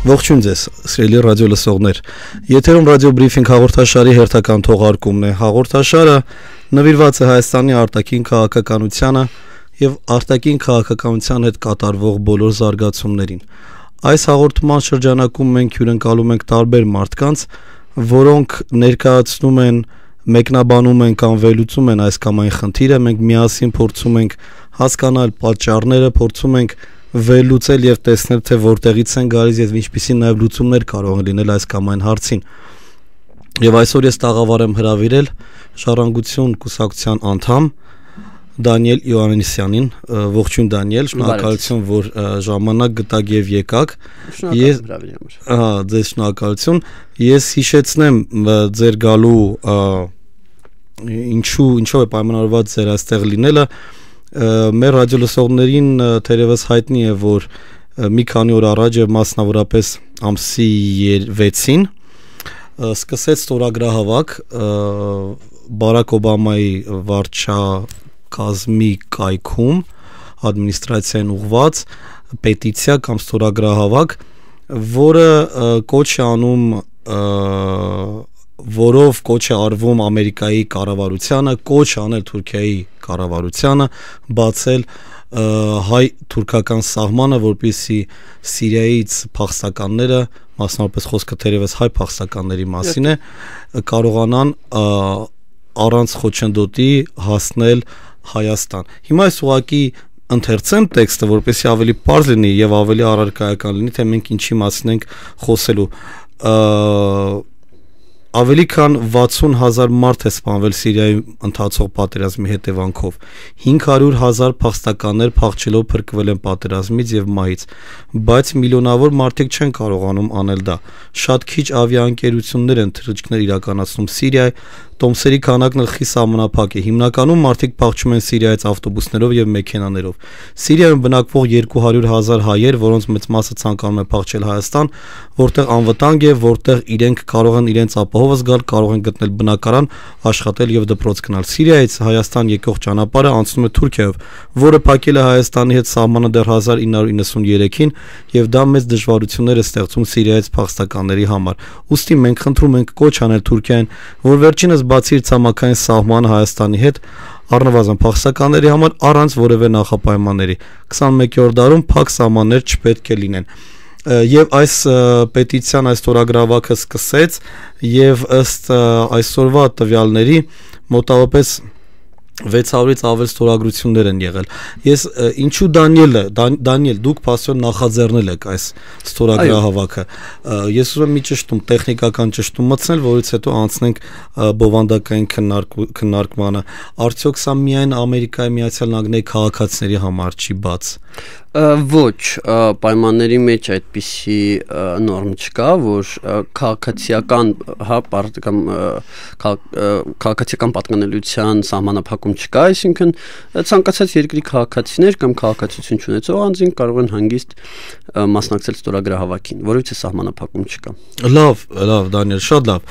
Ողջույն ձեզ, սիրելի ռադիո լսողներ։ Եթերում ռադիո բրիֆինգ հաղորդաշարի հերթական թողարկումն է։ Հաղորդաշարը նվիրված է Հայաստանի արտաքին քաղաքականությանը եւ արտաքին քաղաքականության հետ կատարվող բոլոր զարգացումներին։ Այս հաղորդման շրջանակում մենք հյուրընկալում ենք տարբեր մարդկանց, որոնք ներկայացնում են, մեկնաբանում են կամ վերլուծում են այս կամ այն խնդիրը, մենք միասին փորձում ենք հասկանալ պատճառները, փորձում ենք վերլուծել եւ տեսնել թե որտեղից են գալիս եւ ինչպիսի նաեւ լուծումներ կարող են լինել այս կամ այն հարցին։ Եվ այսօր ես տաղավար եմ հրավիրել Ժառանգություն կուսակցության անդամ Դանիել Յոհաննիսյանին։ Ողջույն Դանիել, շնորհակալություն, որ ժամանակ գտաք եւ եկաք։ Ես ձեզ շնորհակալություն։ Ես հիշեցնեմ ձեր գալու ինչով է պայմանավորված ձեր այստեղ լինելը։ Մեր ռադիոլսողներին թերևս հայտնի է, որ մի քանի օր առաջ եւ մասնավորապես ամսի 6-ին սկսեց ստորագրահավաք Բարակ Օբամայի վարչակազմի կայքում ադմինիստրացիային ուղղված պետիցիա կամ ստորագրահավաք, որը կոչ է անում որով կոչ է արվում Ամերիկայի կառավարությանը, կոչ անել Թուրքիայի կառավարությանը բացել հայ-թուրքական սահմանը, որպեսզի Սիրիայից փախստականները, մասնավորապես խոսքը թերևս հայ փախստականների մասին է, կարողանան առանց խոչընդոտի հասնել Հայաստան։ Հիմա այս ուղղակի ընթերցեմ տեքստը, որպեսզի ավելի պարզ լինի եւ ավելի առարկայական լինի, թե մենք ինչի մասին ենք խոսելու։ Ավելի քան 60,000 մարդ է սպանվել Սիրիայում ընթացող պատերազմի հետևանքով։ 500,000 փախստականներ փախչելով փրկվել են պատերազմից եւ մահից, բայց միլիոնավոր մարդիկ չեն կարողանում անել դա։ Շատ քիչ ավիաընկերություններ են թռիչքներ իրականացնում Սիրիայի, տոմսերի քանակն էլ խիստ սահմանափակ է։ Հիմնականում մարդիկ փախչում են Սիրիայից ավտոբուսներով եւ մեքենաներով։ Սիրիայում բնակվող 200,000 հայեր, որոնց մեծ մասը ցանկանում է փախչել Հայաստան, որտեղ անվտանգ է, որտեղ իրենք կարող են իրենց ապահով զգալ, կարող են գտնել բնակարան, աշխատել եւ դպրոց գնալ։ Սիրիայից Հայաստան եկող ճանապարհը անցնում է Թուրքիայով, որը փակել է Հայաստանի հետ սահմանը դեռ 1993-ին, եւ դա մեծ դժվարություններ է ստեղծում Սիրիայից փախստականների համար։ Ուստի մենք խնդրում ենք կոչ անել Թուրքիային, որ վերջինս բացի իր ցամաքային սահմանը Հայաստանի հետ առնվազն փախստականների համար առանց որևէ նախապայմանների 21-րդ դարում փակ սահմաններ չպետք է լինեն։ Եվ այս պետիցիան, այս ստորագրավակը սկսեց եւ ըստ այսօրվա տվյալների մոտավորապես 600-ից ավել ստորագրություններ են եղել։ Ես ինչու Դանիել, դուք փաստորեն նախաձեռնել եք այս ստորագրահավաքը։ Ես ուզում եմ մի ճշտում, տեխնիկական ճշտում մտցնել, որից հետո անցնենք բովանդակային քննարկմանը։ Արդյոք սա միայն Ամերիկայի Միացյալ Նահանգների քաղաքացիների համար չի բաց։ Ոչ, պայմանների մեջ այդպիսի նորմ չկա, որ քաղաքացիական քաղաքացիական պատկանելիության սահմանափակում չկա, այսինքն ցանկացած երկրի քաղաքացիներ կամ քաղաքացիություն չունեցող անձինք կարող են հանգիստ մասնակցել ստորագրահավաքին, որովհետեւ սահմանափակում չկա։ Լավ, Դանիել, շատ լավ։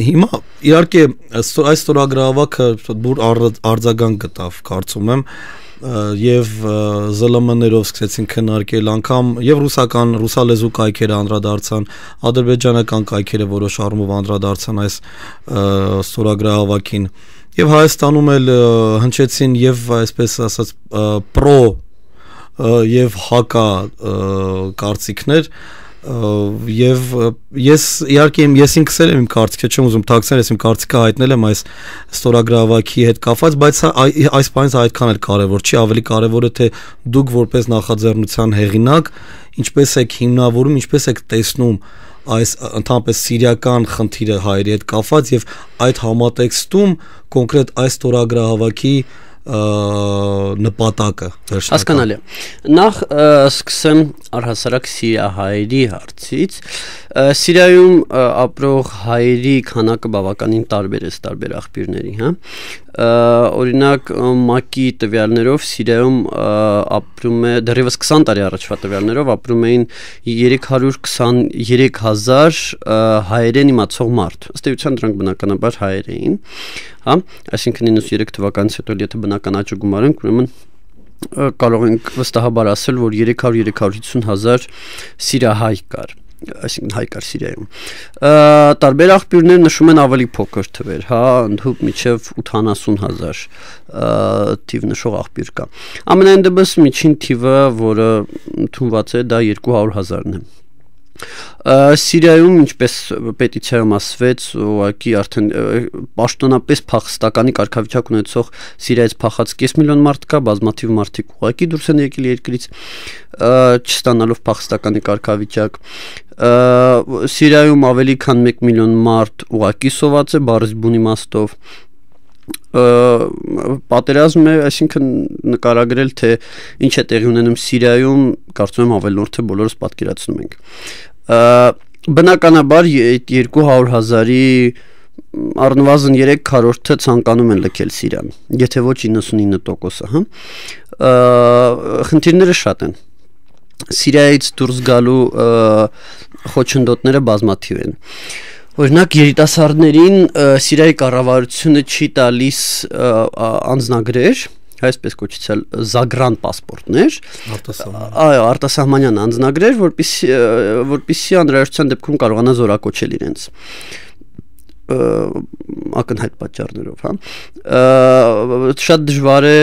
Հիմա իհարկե այս ստորագրահավաքը բուր արձագանք գտավ, կարծում եմ, եւ ԶԼՄ-ներով սկսեցին քննարկել, անգամ եւ ռուսալեզու կայքերը անդրադարձան, ադրբեջանական կայքերը որոշ առումով անդրադարձան այս ստորագրահավաքին, եւ Հայաստանում էլ հնչեցին եւ այսպես ասած պրո եւ հակա կարծիքներ, եւ ես իհարկե ես ինքս եմ իմ կարծիքը չեմ ուզում թաքցնել, ես իմ կարծիքը հայտնել եմ այս ստորագրահավաքի հետ կապված, բայց այս բանից այդքան էլ կարևոր չի, ավելի կարևոր է թե դուք որպես նախաձեռնության հեղինակ ինչպես եք հիմնավորում, ինչպես եք տեսնում այս ընդհանրապես սիրիական խնդիրը հայերի հետ կապված եւ այդ համատեքստում կոնկրետ այս ստորագրահավաքի նպատակը հասկանալի է։ Նախ սկսեմ առհասարակ սիրիահայերի հարցից։ Սիրիայում ապրող հայերի քանակը բավականին տարբեր է տարբեր աղբյուրների, հա։ Օրինակ ՄԱԿ-ի տվյալներով Սիրիայում ապրում է դեռևս 20 տարի առաջվա տվյալներով ապրում էին 323,000 հայերեն իմացող մարդ։ Ըստ էության դրանք բնականաբար հայեր էին, հա, այսինքն 93 թվականից հետո եթե բնական աճը գումարենք, ուրեմն կարող ենք վստահաբար ասել, որ 300-350 հազար սիրահայ կար, այսինքն հայ կար Սիրիայում։ Տարբեր աղբյուրներ նշում են ավելի փոքր թվեր, հա, ընդհուպ մինչև 80 հազար թիվ նշող աղբյուր կա։ Ամենայն դեպս միջին թիվը, որը ընդունված է, դա 200 հազարն է։ Սիրիայում, ինչպես պետիցիայում ասվեց, ուղղակի արդեն պաշտոնապես փախստականի կարգավիճակ ունեցող Սիրիայից փախած կես միլիոն մարդ կա, բազմաթիվ մարդիկ ուղղակի դուրս են եկել երկրից, չստանալով փախստականի կարգավիճակ։ Սիրիայում ավելի քան 1 միլիոն մարդ ուղղակի սոված է բառից բուն իմաստով։ Պատերազմ է, այսինքն նկարագրել, թե ինչ է տեղի ունենում Սիրիայում, կարծում եմ ավելորդ թե բոլորս պատկերացնում ենք։ Բնականաբար 200 հազարի առնվազն 3/4-ը ցանկանում են լքել Սիրիան, եթե ոչ 99%-ը, հա։ Խնդիրները շատ են։ Սիրիայից դուրս գալու խոչընդոտները բազմաթիվ են։ Օրինակ երիտասարդներին Սիրիայի կառավարությունը չի տալիս անձնագրեր, այսպես կոչեցել զագրան պասպորտներ, այո, արտասահմանյան անձնագրեր, որպեսզի անհրաժեշտության դեպքում կարողանա զորակոչել իրենց ակնհայտ պատճառներով, հա։ Շատ դժվար է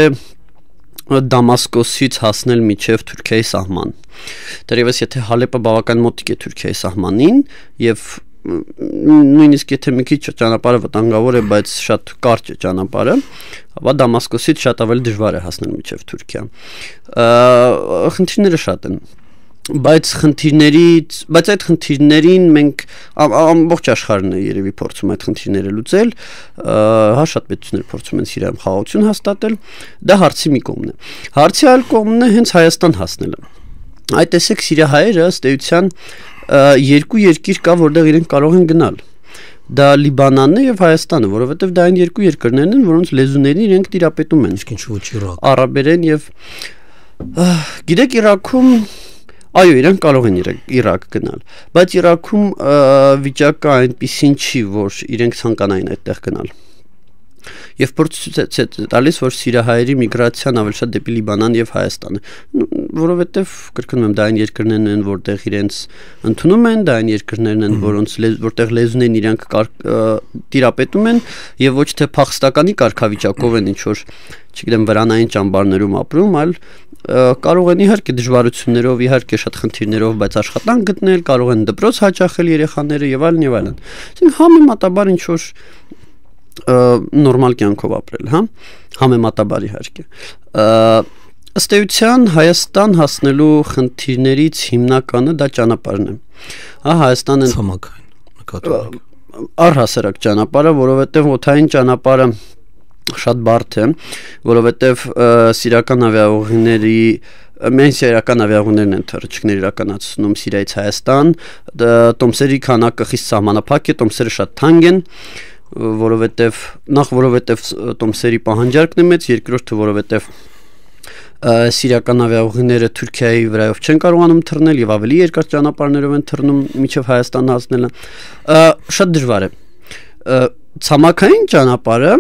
Դամասկոսից հասնել մինչև Թուրքիայի սահման։ Դեռևս եթե Հալեպը բավական մոտիկ է Թուրքիայի սահմանին եւ նույնիսկ եթե մի քիչ ճանապարհը վտանգավոր է, բայց շատ կարճ է ճանապարհը, ապա Դամասկոսից շատ ավելի դժվար է հասնել մինչև Թուրքիա։ Խնդիրները շատ են, բայց այդ խնդիրներին մենք ամբողջ աշխարհն է երևի փորձում այդ խնդիրները լուծել, հա, շատ պետություններ փորձում են Սիրիայում խաղաղություն հաստատել, դա հարցի մի կողմն է։ Հարցի այլ կողմն է հենց Հայաստան հասնելը։ Այդ տեսեք սիրիահայերը ըստ էության երկու երկիր կա, որտեղ իրենք կարող են գնալ։ Դա Լիբանանն է եւ Հայաստանը, որովհետեւ դա այն երկու երկրներն են, որոնց լեզուներին իրենք տիրապետում են։ Իսկ ինչու ոչ Իրաք։ Արաբերեն եւ գիտեք Իրաքում, այո, իրենք կարող են Իրաք գնալ, բայց Իրաքում վիճակը այնպեսին չի, որ իրենք ցանկանային այդտեղ գնալ։ Եվ փորձ տալիս, որ սիրիահայերի միգրացիան ավելի շատ դեպի Լիբանան եւ Հայաստան է, որովհետեւ կրկնում եմ, դա այն երկրներն են, որտեղ իրենց ընդունում են, դա այն երկրներն են, որտեղ լեզուներն իրանք տիրապետում են եւ ոչ թե փախստականի կարգավիճակով են ինչ որ, չգիտեմ, վրանային ճամբարներում ապրում, այլ կարող են իհարկե դժվարություններով, իհարկե շատ խնդիրներով, բայց աշխատանք գտնել, կարող են դպրոց հաճախել երեխաները եւ այլն եւ այլն։ Այսինքն համեմատաբար ինչ որ նորմալ կյանքով ապրել, հա, համեմատաբար իհարկե։ Ըստ էության Հայաստան հասնելու խնդիրներից հիմնականը դա ճանապարհն է։ Հա, Հայաստանը ցամաքային նկատառք։ Առհասարակ ճանապարհը, որովհետև օդային ճանապարհը շատ բարդ է, որովհետև սիրիական ավիաուղիների Մենք սիրիական ավիաուղիներն են թռիչքներ իրականացնում Սիրիայից Հայաստան, տոմսերի քանակը խիստ սահմանափակ է, տոմսերը շատ թանկ են, որովհետև տոմսերի պահանջարկն է մեծ, երկրորդը որովհետև սիրիական ավիաուղիները Թուրքիայի վրայով չեն կարողանում թռնել եւ ավելի երկար ճանապարհներով են թռնում մինչև Հայաստան հասնելը, շատ դժվար է։ Ցամաքային ճանապարհը,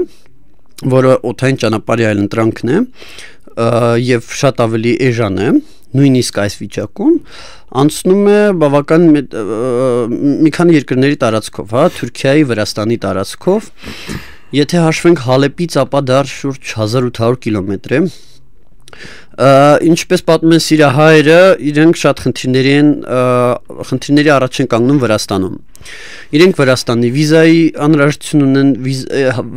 որը օդային ճանապարհի այլ ընտրանքն է եւ շատ ավելի էժան է, նույնիսկ այս վիճակում անցնում է բավական մի քանի երկրների տարածքով, հա, Թուրքիայի, Վրաստանի տարածքով, եթե հաշվենք Հալեպից, ապա դա շուրջ 1800 կիլոմետր է։ Ինչպես պատմում են սիրիահայերը, իրենք շատ խնդիրների առաջ են կանգնում Վրաստանում։ Իրենք Վրաստանի վիզայի անհրաժեշտություն ունեն,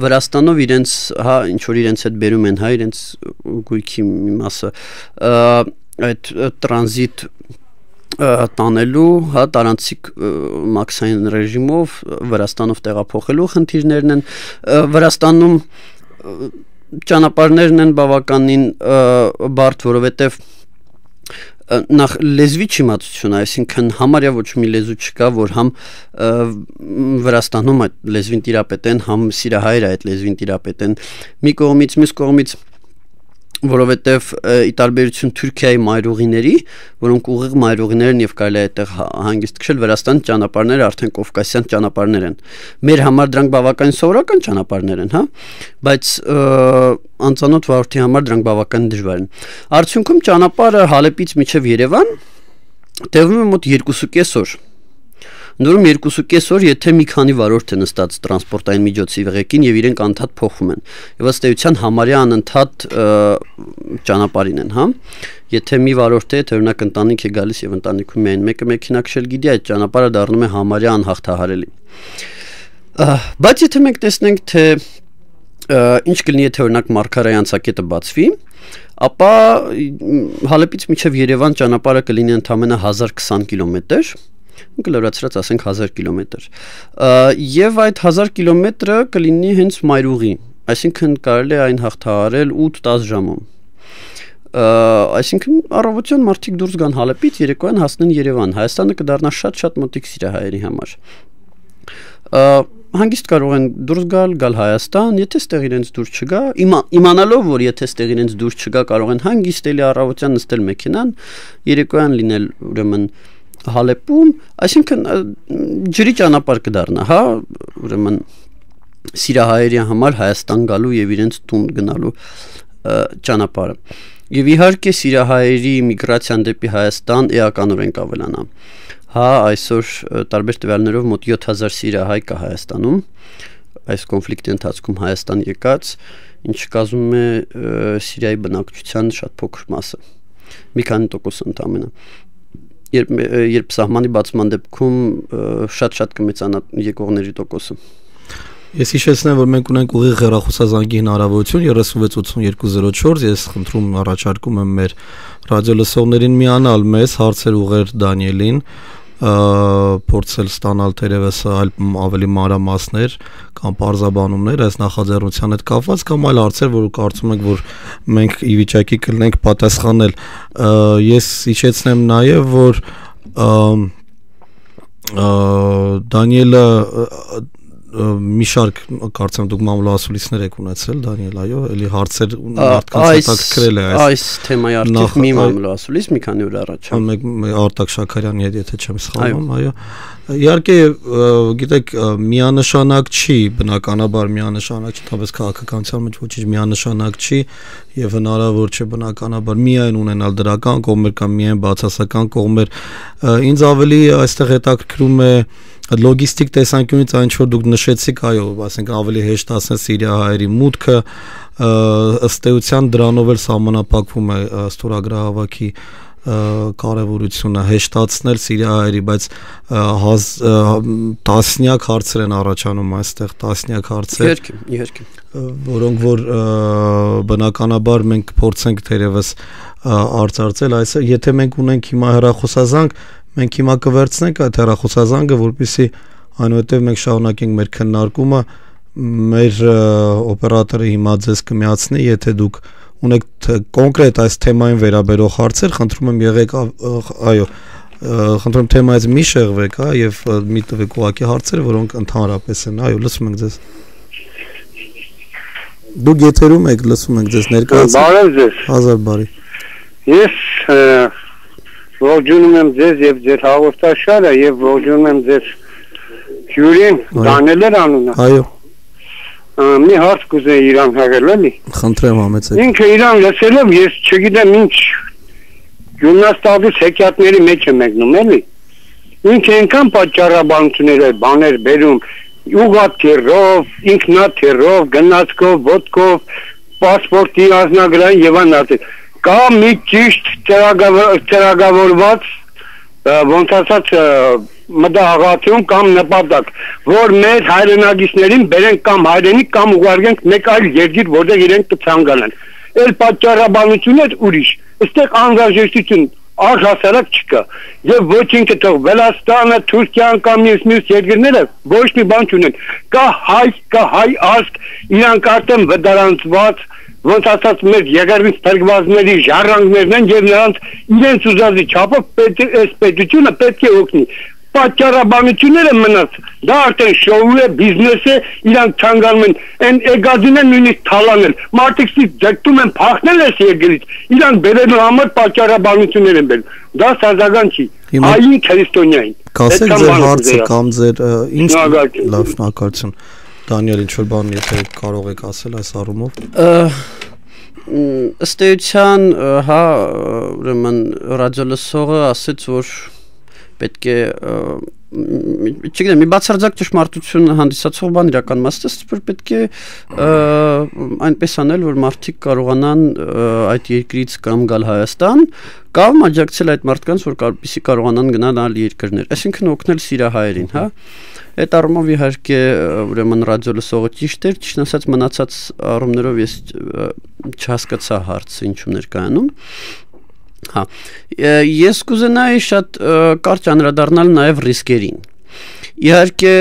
Վրաստանով իրենց, հա, ինչ որ իրենց հետ բերում են, հա, իրենց գույքի մի մասը, այդ տրանզիտ տանելու, հա, տարանցիկ մաքսային ռեժիմով Վրաստանով տեղափոխելու խնդիրներն են։ Վրաստանում ճանապարհներն են բավականին բարդ, որովհետև նախ լեզվի չիմացություն, այսինքն համարյա ոչ մի լեզու չկա, որ համ Վրաստանում այդ լեզվին տիրապետեն, համ սիրիահայերը այդ լեզվին տիրապետեն։ Մի կողմից, մյուս կողմից որովհետև ի տարբերություն Թուրքիայի մայրուղիների, որոնք ուղիղ մայրուղիներ են եւ կարելի է այդտեղ հանգիստ քշել, Վրաստանի ճանապարհները արդեն կովկասյան ճանապարհներ են։ Մեր համար դրանք բավականին սովորական ճանապարհներ են, հա, բայց անծանոթ վարորդի համար դրանք բավականին դժվար են։ Արդյունքում ճանապարհը Հալեպից մինչև Երևան տևում է մոտ 2.5 օր։ Նորում 2.5 օր, եթե մի քանի վարորդ է նստած տրանսպորտային միջոցի ղեկին եւ իրենք անդադ փոխում են։ Եվ ըստ էության համարյա անընդհատ ճանապարհին են, հա։ Եթե մի վարորդ է, թե օրինակ ընտանիք է գալիս եւ ընտանիքում միայն մեկը մեքենա քշել գիտի, այդ ճանապարհը դառնում է համարյա անհաղթահարելի։ Բայց եթե մենք տեսնենք, թե ինչ կլինի, եթե օրինակ Մարգարայի անցակետը բացվի, ապա Հալեպից մինչև Երևան ճանապարհը կլինի ընդամենը 1020 կիլոմետր, կլորացրած ասենք 1000 կիլոմետր, եւ այդ 1000 կիլոմետրը կլինի հենց մայրուղի, այսինքն կարելի է այն հաղթահարել 8-10 ժամում, այսինքն առավոտյան մարդիկ դուրս գան Հալեպից, երեկոյան հասնեն Երևան, Հայաստանը կդառնա շատ մոտիկ սիրահայերի համար, հանգիստ կարող են դուրս գալ Հայաստան, եթե ստեղ իրենց դուրս չգա, իմանալով, որ եթե ստեղ իրենց դուրս չգա, կարող են հանգիստ էլի առավոտյան նստել մեքենան, երեկոյան լինել ուրեմն Հալեպում, այսինքն ջրի ճանապարհ կդառնա, հա, ուրեմն սիրահայերի համար Հայաստան գալու եւ իրենց տուն գնալու ճանապարհը։ Եվ իհարկե սիրահայերի միգրացիան դեպի Հայաստան էականորեն կավելանա։ Հա, այսօր տարբեր տվյալներով մոտ 7000 սիրահայ կա Հայաստանում, այս կոնֆլիկտի ընթացքում Հայաստան եկած, ինչը կազմում է Սիրիայի բնակչության շատ փոքր մասը, մի քանի տոկոս ընդամենը։ Երբ սահմանի բացման դեպքում շատ կմեծանա եկողների տոկոսը։ Ես հիշեցնեմ, որ մենք ունենք ուղիղ հեռախոսազանգի հնարավորություն 368204, ես խնդրում առաջարկում եմ մեր ռադիոլսողներին միանալ մեզ, հարցեր ուղղել Դանիելին, փորձել ստանալ թերևս այլ ավելի մանրամասներ կամ պարզաբանումներ այս նախաձեռնության հետ կապված կամ այլ հարցեր, որ կարծում եք, որ մենք ի վիճակի կլինենք պատասխանել։ Ես հիշեցնեմ նաև, որ Դանիելը մի շարք կարծեմ դուք մամուլասուլիսներ եք ունեցել, Դանիել, այո, էլի հարցեր մարդկանց հետաքրքրել է այս թեմայի արդյոք մի մամուլասուլիս մի քանի օր առաջ։ Արտակ Շաքարյանի հետ, եթե չեմ սխալվում, այո։ Իհարկե, գիտեք, միանշանակ չի, բնականաբար միանշանակ չի, թավես քաղաքականության մեջ ոչինչ միանշանակ չի եւ հնարավոր չէ բնականաբար միայն ունենալ դրական կողմեր կամ միայն բացասական կողմեր։ Ինձ ավելի այստեղ հետաքրքրում է լոգիստիկ տեսանկյունից այն ինչ որ դուք նշեցիք, այո, ասենք ավելի հեշտ ասեն սիրիահայերի մուտքը, ըստ էության դրանով էլ սահմանափակվում է ստորագրահավաքի կարևորությունը հեշտացնել սիրիահայերի, բայց տասնյակ հարցեր են առաջանում այստեղ, տասնյակ հարցեր, իհարկե, որոնք որ բնականաբար մենք փորձենք թերևս արծարծել, այսինքն եթե մենք ունենք հիմա հեռախոսազանգ, մենք հիմա կվերցնենք այդ հեռախոսազանգը, որպեսզի այնուհետև մենք շարունակենք մեր քննարկումը, մեր օպերատորը հիմա ձեզ կմիացնի, եթե դուք ունեք կոնկրետ այս թեմային վերաբերող հարցեր, խնդրում եմ եղեք, այո, խնդրում եմ թեմայից մի շեղվեք, հա, եւ մի տվեք ուղղակի հարցեր, որոնք ընդհանրապես են, այո, լսում ենք ձեզ։ Դուք եթերում եք, լսում ենք ձեզ, ներկայացեք։ Բարև ձեզ։ Հազար բարի։ Ես ողջունում եմ ձեզ եւ ձեր հաղորդաշարը եւ ողջունում եմ ձեր հյուրին, Դանիել անունը։ Այո։ Մի հարց կուզեի իրան հաղել, էլի։ Խնդրեմ համեցեք։ Ինքը իրան լսելով ես չգիտեմ ինչ գումնաստաբուս հեքիաթների մեջ է մեկնում, էլի։ Ինքը այնքան պատճառաբանություններ է բաներ բերում, ուղղաթիռով, ինքնաթիռով, գնացքով, ոտքով, պասպորտի ազնագրային եւ այլն։ Կա մի ճիշտ ծրագրավորված ոնց ասած մտահղացում կամ նպատակ, որ մեր հայրենագիցներին բերենք կամ հայրենիք կամ ուղարկենք մեկ այլ երկիր, որտեղ իրենք կցանկանան։ Էլ պատճառաբանություններ ուրիշ։ Այստեղ անհրաժեշտություն առհասարակ չկա։ Եվ ոչ ինքը թող Վրաստանը, Թուրքիան կամ մյուս երկրները ոչ մի բան չունեն։ Կա հայ ազգ, իրանք արդեն վտարանցված, ոնց ասած մեր եղերնից փրկվածների ժառանգներն են եւ նրանց իրենց ուզածի չափով այս պետությունը պետք է օգնի։ պատճառաբանությունները մնաց դա արդեն շոու է բիզնես է իրանք ցանկանում են այն էգազին են նույնիսկ թալանել մարդիկ ձգտում են փախնել այս երկրից իրանք բերելու համար պատճառաբանություններ են բերում դա սազական չի ային քրիստոնյային կասեք ձեր հարցը կամ ձեր ինչ լավ շնորհակալություն Դանիել ինչ որ բան եթե կարող եք ասել այս առումով ըստ էության հա ուրեմն ռադիոլսողը ասեց որ պետք է չգիտեմ մի բացարձակ ճշմարտություն հանդիսացող բան իրական մասը որ պետք է այնպես անել որ մարդիկ կարողանան այդ երկրից կամ գալ Հայաստան կամ աջակցել այդ մարդկանց որ որպեսզի կարողանան գնալ այլ երկրներ այսինքն օգնել սիրահայերին հա այդ առումով իհարկե ուրեմն ռադիոլսողը ճիշտ էր ճիշտ ասած մնացած առումներով ես չհասկացա հարցը ինչու ներկայանում հա ես կուզենայի շատ կարճ անդրադառնալ նաև ռիսկերին իհարկե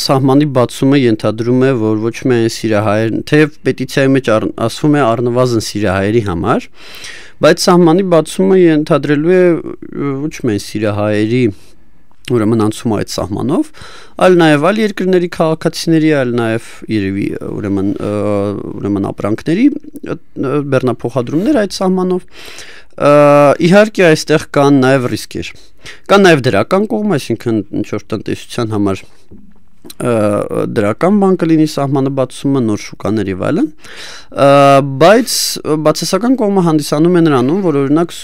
սահմանի բացումը ենթադրում է որ ոչ միայն սիրահայեր թեև պետիցիայի մեջ ասվում է առնվազն սիրահայերի համար բայց սահմանի բացումը ենթադրելու է ոչ միայն սիրահայերի ուրեմն անցում այդ սահմանով այլ նաև այլ երկրների քաղաքացիների այլ նաև երևի ուրեմն ապրանքների բեռնափոխադրումներ այդ սահմանով իհարկե այստեղ կան նաև ռիսկեր կան նաև դրական կողմ այսինքն ինչ որ տնտեսության համար դրական բան կլինի սահմանը բացումը նոր շուկաներ եւ այլն բայց բացասական կողմը հանդիսանում է նրանում որ օրինակ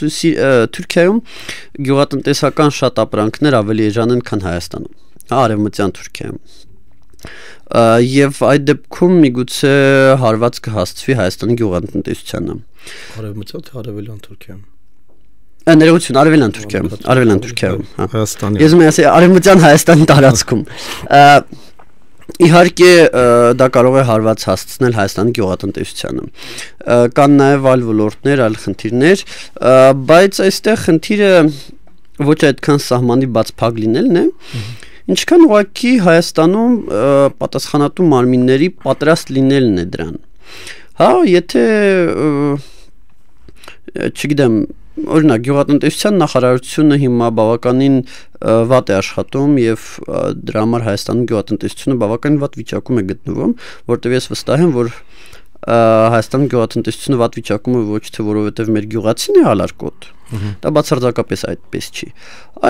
Թուրքիայում գյուղատնտեսական շատ ապրանքներ ավելի էժան են քան Հայաստանում արևմտյան Թուրքիայում եւ այդ դեպքում միգուցե հարված կհասցվի Հայաստանի գյուղատնտեսությանը արևմտյան թե արևելյան Թուրքիայում ներողություն արևելյան Թուրքիայում հա Հայաստանի ես ասի արևմտյան Հայաստանի տարածքում իհարկե դա կարող է հարված հասցնել Հայաստանի գյուղատնտեսությանը կան նաև այլ ոլորտներ այլ խնդիրներ բայց այստեղ խնդիրը ոչ այդքան սահմանի բաց փակ լինելն է ինչքան ուղղակի Հայաստանում պատասխանատու մարմինների պատրաստ լինելն է դրան հա եթե չգիտեմ օրինակ գյուղատնտեսության նախարարությունը հիմա բավականին վատ է աշխատում եւ դրա համար Հայաստանի գյուղատնտեսությունը բավականին վատ վիճակում է գտնվում որտեղ ես վստահ եմ որ Հայաստանի գյուղատնտեսությունը վատ վիճակում է ոչ թե որովհետեւ մեր գյուղացին է հալարկոտ դա բացարձակապես այդպես չի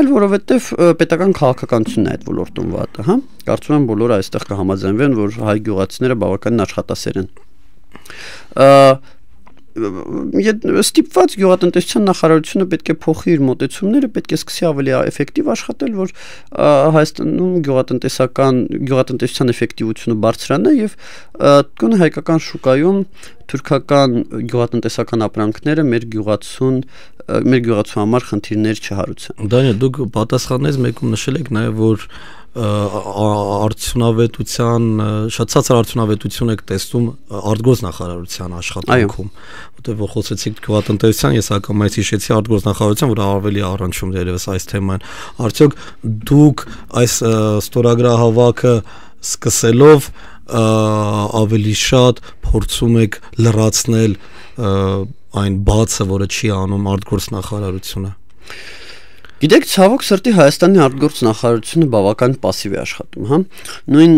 այլ որովհետեւ պետական քաղաքականությունն է այդ ոլորտում վատը հա կարծում եմ բոլորը այստեղ կհամաձայնվեն որ հայ գյուղացիները բավականին աշխատասեր են ստիպված գյուղատնտեսության նախարարությունը պետք է փոխի իր մոտեցումները, պետք է սկսի ավելի էֆեկտիվ աշխատել, որ Հայաստանում գյուղատնտեսության էֆեկտիվությունը բարձրանա եւ գոնե հայկական շուկայում թուրքական գյուղատնտեսական ապրանքները մեր գյուղացու համար խնդիրներ չհարուցան։ Դանիել, դուք պատասխաններից մեկում նշել եք նաեւ որ արդյունավետության շատ ցածր արդյունավետություն եք տեսնում արտգործ նախարարության աշխատանքում որտեղ որ խոսեցիք գյուղատնտեսության ես ակամայից հիշեցի արտգործ նախարարության որ ավելի առնչում դերևս այս թեման արդյոք դուք այս ստորագրահավաքը սկսելով ավելի շատ փորձում եք լրացնել այն բացը որը չի անում արտգործ նախարարությունը Գիտեք, ցավոք սրտի Հայաստանի արտգործ նախարարությունը բավական пассив է աշխատում, հա։ Նույն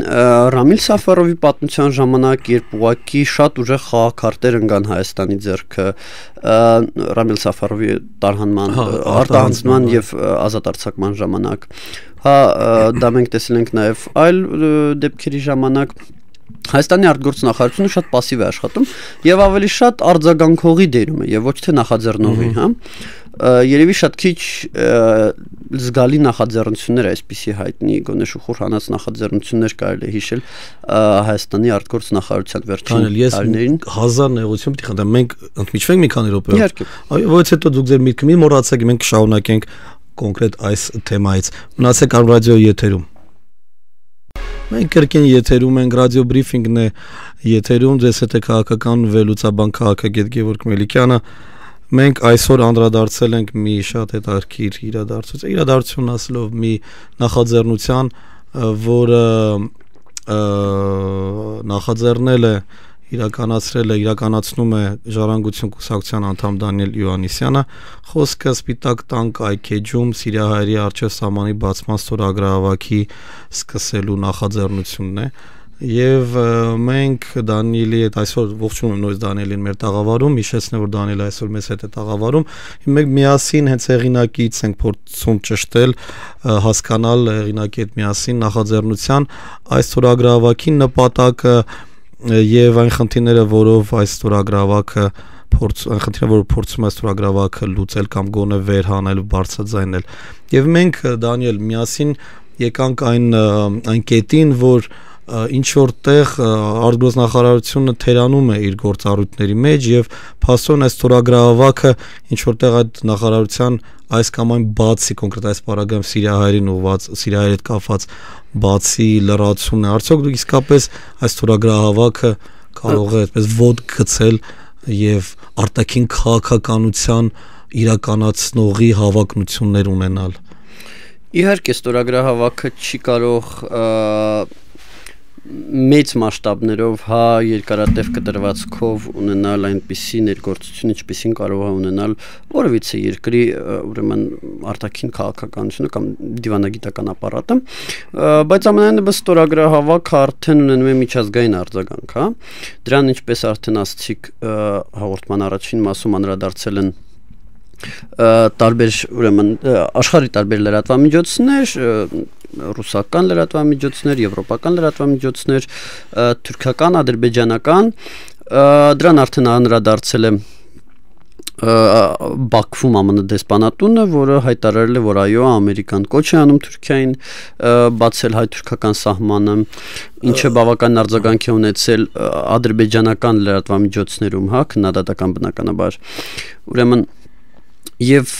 Ռամիլ Սաֆարովի պատմության ժամանակ, երբ ուղղակի շատ ուժեղ խաղաքարտեր ընկան Հայաստանի ձեռքը, Ռամիլ Սաֆարովի տարհանման, արտահանձնման եւ ազատ արձակման ժամանակ, հա, դա մենք տեսել ենք նաեւ այլ դեպքերի ժամանակ Հայաստանի արտգործ նախարարությունը շատ пассив է աշխատում եւ ավելի շատ արձագանքողի դերում է եւ ոչ թե նախաձեռնողի, հա։ Երևի շատ քիչ զգալի նախաձեռնություններ այսպիսի հայտնի գոնե շուխուր հանած նախաձեռնություններ կարելի է հիշել Հայաստանի արտգործ նախարարության վերջին տարիներին 1000 նեղություն պիտի խնդրեմ մենք ընդմիջվենք մի քանի րոպեով այո ոչ հետո դուք ձեր միտքը մի մոռացեք մենք կշարունակենք կոնկրետ այս թեմայից մնացեք Արմ ռադիոյի եթերում Մենք կրկին եթերում ենք ռադիո բրիֆինգն է եթերում ձեզ հետ է քաղաքական վերլուծաբան քաղաքագետ Գևորգ Մելիքյանը Մենք այսօր անդրադարձել ենք մի շատ հետաքրքիր իրադարձություն ասելով մի նախաձեռնության, որը նախաձեռնել է իրականացնում է Ժառանգություն կուսակցության անդամ Դանիել Յուաննիսյանը, խոսքը Սպիտակ տան կայքեջում սիրիահայերի առջև սահմանի բացման ստորագրահավաքի սկսելու նախաձեռնությունն է։ Եվ մենք Դանիելի հետ այսօր ողջունում նույնիսկ Դանիելին մեր տաղավարում, հիշեցնեմ, որ Դանիելը այսօր մեզ հետ է տաղավարում, մենք միասին հենց հեղինակից ենք փորձում ճշտել, հասկանալ հեղինակի հետ միասին նախաձեռնության այս ստորագրահավաքի նպատակը եւ այն խնդիրները, որով այս ստորագրահավաքը փորձում է ստորագրահավաքը լուծել կամ գոնե վերհանել, բարձրաձայնել։ Եվ մենք Դանիել միասին եկանք այն կետին, որ ինչ որտեղ արտգործնախարարությունը թերանում է իր գործառույթների մեջ եւ փաստորեն այս ստորագրահավաքը ինչ որտեղ այդ նախարարության այս կամ այն բացի կոնկրետ այս պարագայում Սիրիահայերին ուղված Սիրիահայերի հետ կապված բացի լրացումն է, արդյոք դուք իսկապես այս ստորագրահավաքը կարող է այդպես ոդ գցել եւ արտաքին քաղաքականության իրականացնողի հավակնություններ ունենալ։ Իհարկե ստորագրահավաքը չի կարող մեծ մասշտաբներով երկարատև կտրվածքով ունենալ այնպիսի ներգործություն, ինչպիսին կարող է ունենալ որևիցե երկրի ուրեմն արտաքին քաղաքականությունը կամ դիվանագիտական ապարատը, բայց ամենայնիվս ստորագրահավաքը արդեն ունենում է միջազգային արձագանք, դրան ինչպես արդեն ասացիք հաղորդման առաջին մասում անդրադարձել են տարբեր ուրեմն աշխարհի տարբեր լրատվամիջոցներ, ռուսական լրատվամիջոցներ, եվրոպական լրատվամիջոցներ, թուրքական, ադրբեջանական, դրան արդեն անդրադարձել է Բաքվում ԱՄՆ դեսպանատունը, որը հայտարարել է, որ այո, ամերիկան կոչ է անում Թուրքիային բացել հայ-թուրքական սահմանը, ինչը բավական արձագանք է ունեցել ադրբեջանական լրատվամիջոցներում, քննադատական բնականաբար, ուրեմն Եվ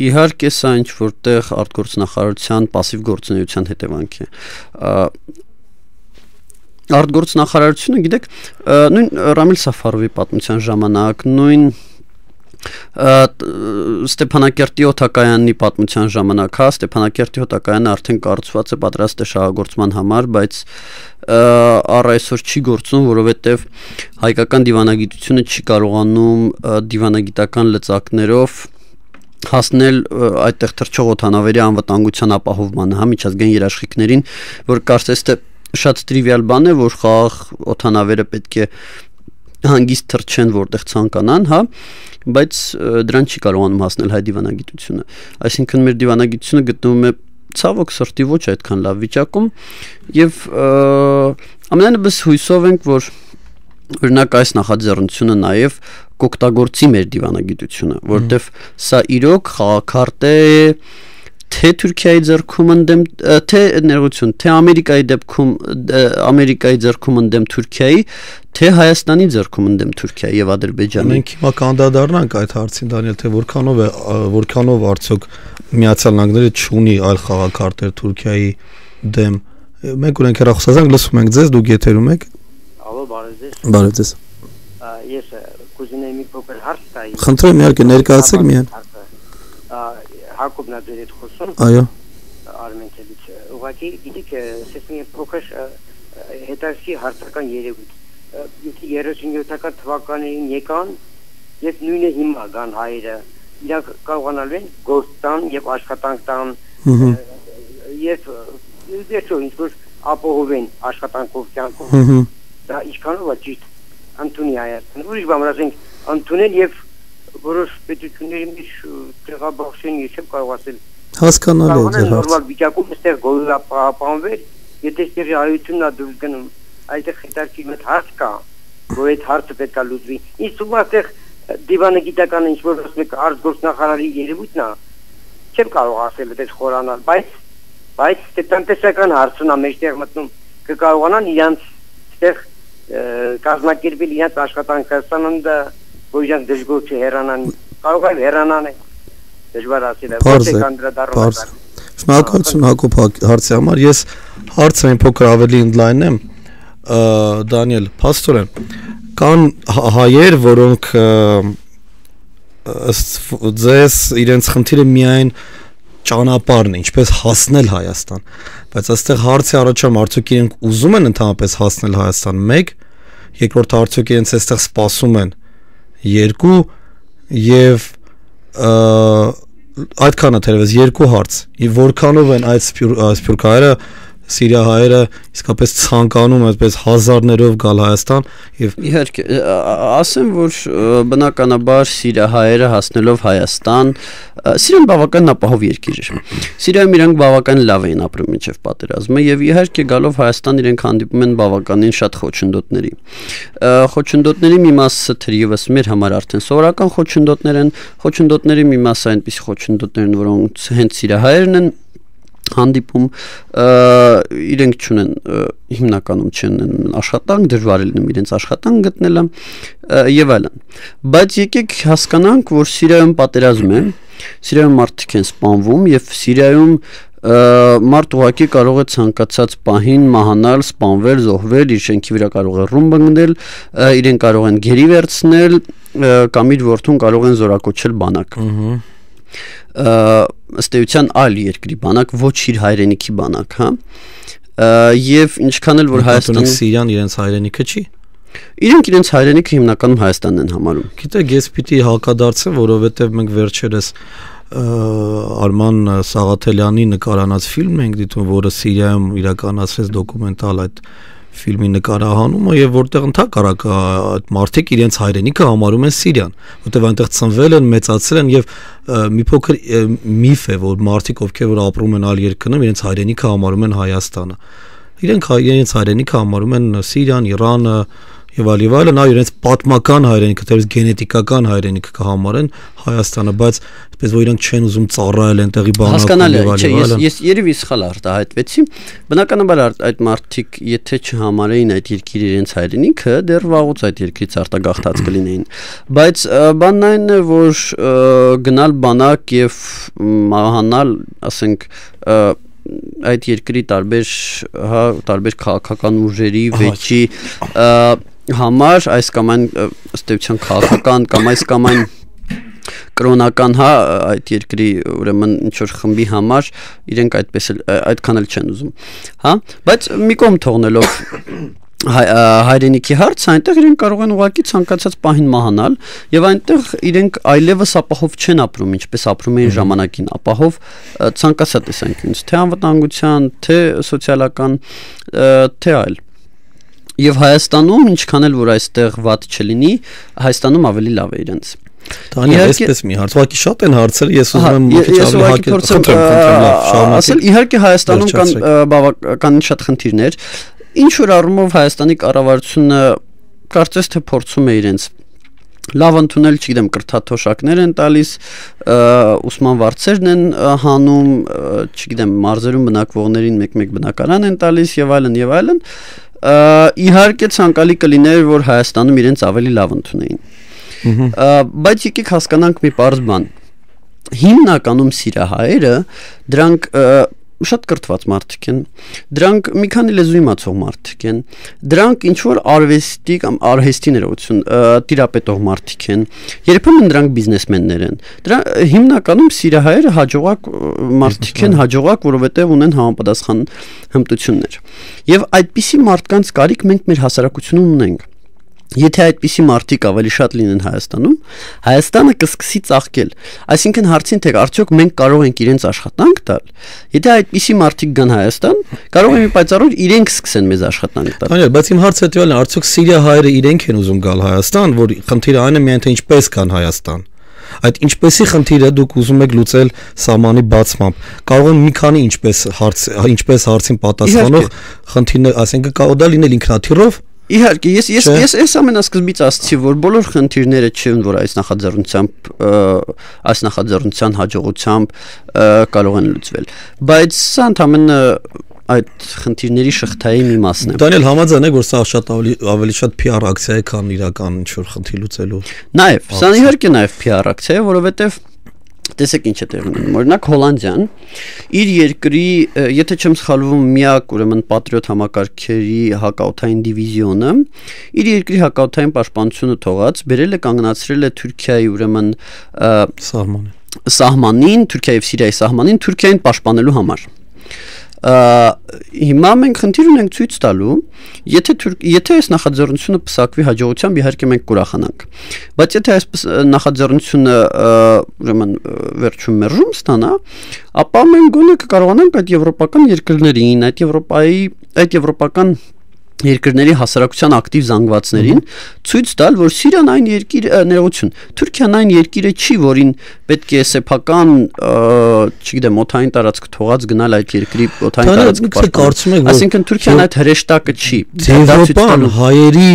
իհարկե սա ինչ որտեղ արտգործնախարարության пассив գործունեության հետևանք է։ Արտգործնախարարությունը, գիտեք, նույն Ռամիլ Սաֆարովի պատմության ժամանակ, նույն Ստեփանակերտի օդակայանի պատմության ժամանակ, Ստեփանակերտի օդակայանը արդեն կառուցված է, պատրաստ է շահագործման համար, բայց առ այսօր չի գործում, որովհետև հայկական դիվանագիտությունը չի կարողանում դիվանագիտական լծակներով հասնել այդտեղ թռչող օդանավերի անվտանգության ապահովմանը, միջազգային երաշխիքներին, որ կարծես թե շատ տրիվիալ բան է, որ խաղաղ օդանավերը պետք է հանգիստ թռչեն որտեղ ցանկանան, բայց դրան չի կարողանում հասնել հայ դիվանագիտությունը։ Այսինքն մեր դիվանագիտությունը գտնվում է ցավոք սրտի ոչ այդքան լավ վիճակում եւ ամենայնիվս հույսով ենք, որ օրինակ այս նախաձեռնությունը նաեւ կօգտագործի մեր դիվանագիտությունը, որտեվ սա իրոք խաղաքարտ է թե Թուրքիայի ձեռքում ընդդեմ թե ներողություն, թե Ամերիկայի ձեռքում ընդդեմ Թուրքիայի, թե Հայաստանի ձեռքում ընդդեմ Թուրքիայի եւ Ադրբեջանի։ Մենք հիմա կանդրադառնանք այդ հարցին, Դանիել, թե որքանով արդյոք Միացյալ Նահանգները չունի այլ խաղաքարտեր Թուրքիայի դեմ։ Մենք ունենք հեռախոսազանգ, լսում ենք ձեզ, դուք եթերում եք։ Ալո, բարև ձեզ։ Բարև ձեզ։ Ես կուզենայի մի փոքր հարց տալ։ Խնդրեմ, իհարկե, ներկայացեք միայն։ Հակոբն է դերից խոսում։ Այո։ Արմենցելից։ Ուղղակի գիտեք, ասես մի փոքր հետաքրքիր հարցական երևույթ։ Եթե 37-ական թվականներին եկան, եւ նույնը հիմա կան հայերը, իրանք կարողանալու են գործ տան եւ աշխատանք տան եւ դերչո ինչ-որ ապահովեն աշխատանքով կյանքով։ Դա ինչքանով է ճիշտ ընդունի Հայաստանը։ Ուրիշ բան ասենք, ընդունել եւ որոշ պետությունների մեջ տեղաբաշխեն, ես չեմ կարող ասել։ Հասկանալի է ձեր հարցը։ Նորմալ վիճակում այստեղ գոլապահանվել, եթե այստեղ հայությունն է դուրս գնում, այդտեղ հետաքրքիր մեծ հարց կա, որ այդ հարցը պետք է լուծվի։ Իսկ ում այստեղ դիվանագիտական ինչ-որ ասում եք արտգործնախարարի երևույթն է, չեմ կարող ասել այդպես խորանալ, բայց տնտեսական հարցն է մեջտեղ մտնում, կկարողանան իրանց այստեղ կազմակերպել իրանց աշխատանքը, սանանդը որ իրանք դժգոհ չհեռանան, կարող է հեռանան, դժվար ասել է, ոչ է կանդրադառնում։ Շնորհակալություն Հակոբ հարցի համար, ես հարցը մի փոքր ավելի ընդլայնեմ, Դանիել, փաստորեն, կան հայեր, որոնք ձեզ իրենց խնդիրը միայն ճանապարհն է, ինչպես հասնել Հայաստան, բայց այստեղ հարցի առաջանում արդյոք իրենք ուզում են ընդհանրապես հասնել Հայաստան, մեկ, երկրորդ արդյոք իրենց այստեղ սպասում են 2 եւ այդքանը թերևս 2 հարց եւ որքանով են այդ սփյուռքահայերը Սիրիա հայերը իսկապես ցանկանում այսպես հազարներով գալ Հայաստան եւ իհարկե ասեմ որ բնականաբար Սիրիա հայերը հասնելով Հայաստան Սիրիան բավական ապահով երկիր էր Սիրիայում իրենք բավական լավ էին ապրում մինչև պատերազմը եւ իհարկե գալով Հայաստան իրենք հանդիպում են բավականին շատ խոչընդոտների խոչընդոտների մի մասը թերևս մեր համար արդեն սովորական խոչընդոտներ են խոչընդոտների մի մասը այնպիսի խոչընդոտներ են որոնց հենց Սիրիա հայերն են հանդիպում իրենք չունեն հիմնականում չեն աշխատանք դժվար է լինում իրենց աշխատանք գտնելը եւ այլն բայց եկեք հասկանանք որ Սիրիայում պատերազմ է Սիրիայում մարդիկ են սպանվում եւ Սիրիայում մարդ ուղղակի կարող է ցանկացած պահին մահանալ, սպանվել, զոհվել, իր շենքի վրա կարող է ռումբ ընկնել, իրեն կարող են գերի վերցնել կամ իր որդուն կարող են զորակոչել բանակ ըստ էության այլ երկրի բանակ, ոչ իր հայրենիքի բանակ, հա։ Եվ ինչքան էլ որ Հայաստանում Սիրիան իրենց հայրենիքը չի։ Իրենք իրենց հայրենիքը հիմնականում Հայաստանն են համարում։ Գիտեք, ես պիտի հակադարձեմ, որովհետև մենք վերջերս Արման Սաղաթելյանի նկարանած ֆիլմ ենք դիտում, որը Սիրիայում իրականացրեց դոկումենտալ այդ ֆիլմի նկարահանումը եւ որտեղ ընդհանրակ այդ մարդիկ իրենց հայրենիքը համարում են Սիրիան, որտեղ այնտեղ ծնվել են, մեծացել են եւ մի փոքր միֆ է, որ մարդիկ ովքեր որ ապրում են այլ երկրներում, իրենց հայրենիքը համարում են Հայաստանը։ Իրենք իրենց հայրենիքը համարում են Սիրիան, Իրանը եւ այլն, այ իրենց պատմական հայրենիքը, թերևս գենետիկական հայրենիքը կհամարեն Հայաստանը, բայց այսպես որ իրանք չեն ուզում ծառայել այնտեղի բանակում եւ այլն։ Ես երևի սխալ արտահայտվեցի։ Բնականաբար այդ մարդիկ, եթե չհամարեին այդ երկիրը իրենց հայրենիքը, դեռ վաղուց այդ երկրից արտագաղթած կլինեին։ Բայց բանն այն է, որ գնալ բանակ եւ մահանալ, ասենք այդ երկրի տարբեր քաղաքական ուժերի վեճի համար այս կամ այն ըստ էության քաղաքական կամ այս կամ այն կրոնական այդ երկրի ուրեմն ինչ որ խմբի համար իրենք այդքան էլ չեն ուզում հա բայց մի կողմ թողնելով հայրենիքի հարց այնտեղ իրենք կարող են ուղղակի ցանկացած պահին մահանալ եւ այնտեղ իրենք այլևս ապահով չեն ապրում ինչպես ապրում էին ժամանակին ապահով ցանկացած տեսանկյունից թե անվտանգության թե սոցիալական թե այլ եւ Հայաստանում ինչքան էլ որ այստեղ վատ չլինի Հայաստանում ավելի լավ է իրենց Տանիա, այսպես մի հարց, ուղղակի շատ են հարցեր, ես ուզում եմ մի քիչ ավելի ասել, իհարկե Հայաստանում կան բավականին շատ խնդիրներ, ինչ որ առումով Հայաստանի կառավարությունը կարծես թե փորձում է իրենց լավ ընդունել, չգիտեմ, կրթաթոշակներ են տալիս, ուսման վարձերն են հանում, չգիտեմ, մարզերում բնակվողներին մեկ-մեկ բնակարան են տալիս եւ այլն, իհարկե ցանկալի կլիներ, որ Հայաստանում իրենց ավելի լավ ընդունեին։ Բայց եկեք հասկանանք մի պարզ բան հիմնականում սիրահայերը դրանք շատ կրթված մարդիկ են դրանք մի քանի լեզու իմացող մարդիկ են դրանք ինչ որ արվեստի կամ արհեստի ներողություն տիրապետող մարդիկ են երբեմն դրանք բիզնեսմեններ են դրա հիմնականում սիրահայերը հաջողակ մարդիկ են հաջողակ որովհետև ունեն համապատասխան հմտություններ եւ այդպիսի մարդկանց կարիք մենք մեր հասարակությունում ունենք Եթե այդպիսի մարդիկ ավելի շատ լինեն Հայաստանում, Հայաստանը կսկսի ծաղկել։ Այսինքն հարցին թե արդյոք մենք կարող ենք իրենց աշխատանք տալ։ Եթե այդպիսի մարդիկ գան Հայաստան, կարող է մի պայծառով իրենք սկսեն մեզ աշխատանք տալ։ Այո, բայց իմ հարցը հետեւյալն է, արդյոք Սիրիա հայերը իրենք են ուզում գալ Հայաստան, որ խնդիրը այն է միայն թե ինչպես կան Հայաստան։ Այդ ինչպեսի խնդիրը դուք ուզում եք լուծել սահմանի բացմամբ։ Կարող են մի քանի ինչպես հարցին պատասխանող խնդիրներ, ասենք կարող դա լինել ինքնաթիռով Իհարկե, ես ամենասկզբից ասացի, որ բոլոր խնդիրները չեն, որ այս նախաձեռնության հաջողությամբ կարող են լուծվել, բայց սա ընդհանրապես այդ խնդիրների շղթայի մի մասն է։ Դանիել, համաձայն եք, որ սա շատ ավելի շատ PR ակցիա է, քան իրական ինչ-որ խնդիր լուծելու։ Նաև, սա իհարկե նաև PR ակցիա է, որովհետև Տեսեք ինչ է տեղի ունենում։ Օրինակ Հոլանդիան իր երկրի, եթե չեմ սխալվում, միակ ուրեմն պատրիոտ համակարգերի հակաօդային դիվիզիոնը իր երկրի հակաօդային պաշտպանությունը թողած բերել է կանգնացրել է Թուրքիայի ուրեմն սահմանին, Թուրքիայի եւ Սիրիայի սահմանին Թուրքիային պաշտպանելու համար։ հիմա մենք խնդիր ունենք ցույց տալու, եթե այս նախաձեռնությունը պսակվի հաջողությամբ, իհարկե մենք կուրախանանք, բայց եթե այս նախաձեռնությունը ուրեմն վերջում մերժում ստանա, ապա մենք գոնե կկարողանանք այդ եվրոպական երկրներին, այդ եվրոպական երկրների հասարակության ակտիվ զանգվածներին ցույց տալ, որ Սիրիան այն ներողություն, Թուրքիան այն երկիրը չի, որին պետք է սեփական, չգիտեմ, օթային տարածք թողած գնալ այդ երկրի օթային տարածք պաշտպանել։ Այսինքն Թուրքիան այդ հրեշտակը չի։ Եվրոպան հայերի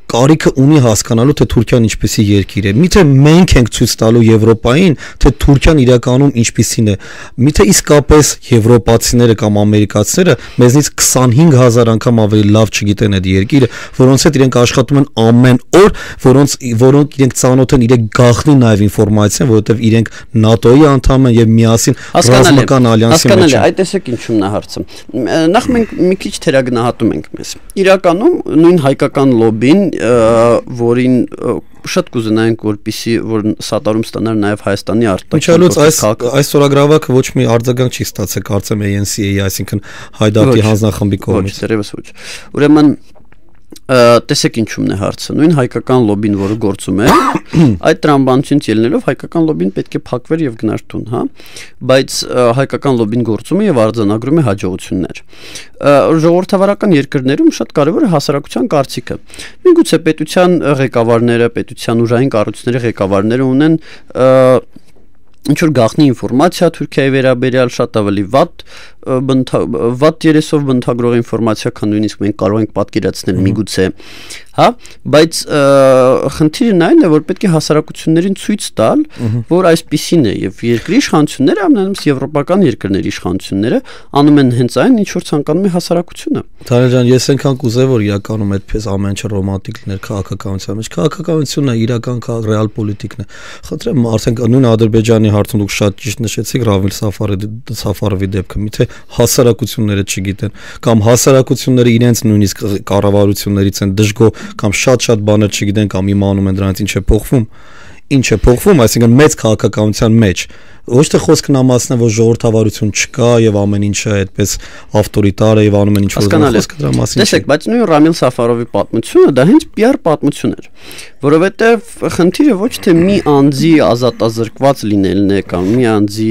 կարիքը ունի հասկանալու, թե Թուրքիան ինչպեսի երկիր է։ Միթե մենք ենք ցույց տալու Եվրոպային, թե Թուրքիան իրականում ինչպեսին է։ Միթե իսկապես եվրոպացիները կամ ամերիկացիները մեզնից 25000 անգամ ավելի լավ չգիտեն այդ երկիրը, որոնց հետ իրենք աշխատում են ամեն օր, որոնք իրենք ծանոթ են իրենք գաղտնի նաև ինֆորմացիան, որովհետև իրենք ՆԱՏՕ-ի անդամ են եւ միասին ռազմական ալյանսի մեջ են։ Այդ տեսեք ինչումն է հարցը։ Նախ մենք մի քիչ թերագնահատում ենք մեզ։ Իրականում նույն հայկական լոբին, որին շատ կուզենայինք, որպեսզի որ սատարում ստանար նաև Հայաստանի արտաքին այս ստորագրավակը ոչ մի արձագանք չի ստացել, կարծեմ ANC-ի, այսինքն Հայդարի հանձնախմբի կողմից։ Ոչ, դեռևս ոչ։ Ուրեմն տեսեք ինչումն է հարցը։ Նույն հայկական լոբին, որը գործում է, այդ տրամաբանությունից ելնելով հայկական լոբին պետք է փակվեր եւ գնար տուն, հա, բայց հայկական լոբին գործում է եւ արձանագրում է հաջողություններ։ Ժողովրդավարական երկրներում շատ կարեւոր է հասարակության կարծիքը։ Միգուցե պետության ղեկավարները, պետության ուժային կառույցների ղեկավարները ունեն ինչ որ գաղտնի ինֆորմացիա Թուրքիայի վերաբերյալ, շատ ավելի վատ երեսով բնութագրող ինֆորմացիա, քան նույնիսկ մենք կարող ենք պատկերացնել միգուցե, հա, բայց խնդիրն այն է, որ պետք է հասարակություններին ցույց տալ, որ այսպիսին է եւ երկրի իշխանությունները, ամենամեծ եվրոպական երկրների իշխանությունները անում են հենց այն, ինչ որ ցանկանում է հասարակությունը։ Թարան ջան, ես այնքան կուզեի, որ իրականում այդպես ամեն ինչ ռոմանտիկ լիներ քաղաքականության մեջ։ Քաղաքականությունն է իրական ռեալ պոլիտիկն է։ Խնդրեմ, արդեն նույն Ադրբեջանի հարցում դուք շատ ճիշտ նշեցիք Ռավիլ Սաֆարովի դեպքը, միթե հասարակությունները չգիտեն կամ հասարակությունները իրենց նույնիսկ կառավարություններից են դժգոհ կամ շատ բաներ չգիտեն կամ իմանում են դրանից ինչ է փոխվում, այսինքն մեծ քաղաքականության մեջ ոչ թե խոսքն ամասն է, որ ժողովրդավարություն չկա եւ ամեն ինչը այդպես ավտորիտար է եւ անում են ինչ որ խոսքը դրա մասին։ Տեսեք, բայց նույն Ռամիլ Սաֆարովի պատմությունը դա հենց PR պատմություն էր, որովհետեւ խնդիրը ոչ թե մի անձի ազատազրկված լինելն է կամ մի անձի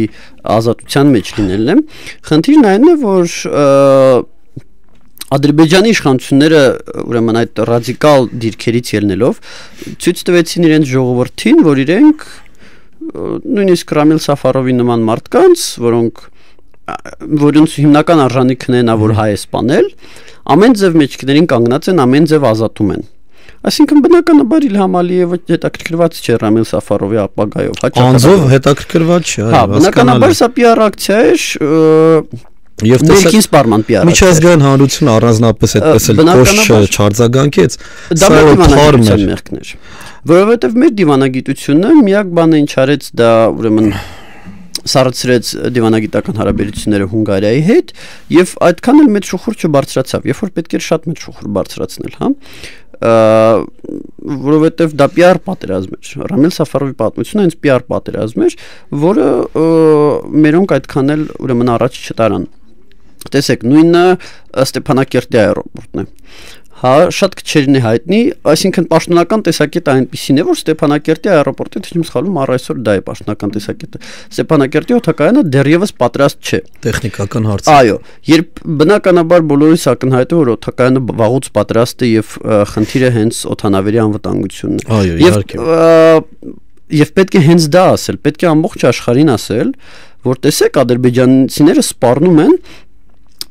ազատության մեջ լինելն է, խնդիրն այն է, որ Ադրբեջանի իշխանությունները ուրեմն այդ ռադիկալ դիրքերից ելնելով ցույց տվեցին իրենց ժողովրդին, որ իրենք նույնիսկ Ռամիլ Սաֆարովի նման մարդկանց, որոնց հիմնական արժանիքն է նա որ հայ է սպանել, ամեն ձև մեջքներին կանգնած են, ամեն ձև ազատում են։ Այսինքն բնականաբար Իլհամ Ալիևը հետաքրքրված չէ Ռամիլ Սաֆարովի ապագայով, հաճախ հետաքրքրված չէ, այո, բնականաբար սա PR ակցիա է, Եվ տեսեք սպարման PR միջազգային հանրությունը առանձնապես այդպես էլ կոշ չարձագանքեց, դա դիվանագիտության մեղքն էր, որովհետև մեր դիվանագիտությունը միակ բանը ինչ արեց, դա ուրեմն սառեցրեց դիվանագիտական հարաբերությունները Հունգարիայի հետ եւ այդքան էլ մեծ շուխուր չբարձրացավ, երբ որ պետք էր շատ մեծ շուխուր բարձրացնել, հա, որովհետև դա PR պատերազմ էր։ Ռամիլ Սաֆարովի պատմությունը հենց PR պատերազմ էր, որը մերոնք այդքան էլ ուրեմն առաջ չտարան։ Տեսեք, նույնը Ստեփանակերտի аэроպորտն է։ Հա, շատ քչերին է հայտնի, այսինքն պաշտոնական տեսակետը այնպեսին է, որ Ստեփանակերտի аэроպորտը, թե չեմ սխալվում, առայսօր դա է պաշտոնական տեսակետը։ Ստեփանակերտի օդակայանը դեռևս պատրաստ չէ։ Տեխնիկական հարց։ Այո, երբ բնականաբար բոլորիս ակնհայտ է, որ օդակայանը վաղուց պատրաստ է եւ խնդիրը հենց օդանավերի անվտանգությունն է։ Այո, իհարկե։ Եվ պետք է հենց դա ասել, պետք է ամբողջ աշխարհին ասել, որ տեսեք ադրբեջանցիները սպառնում են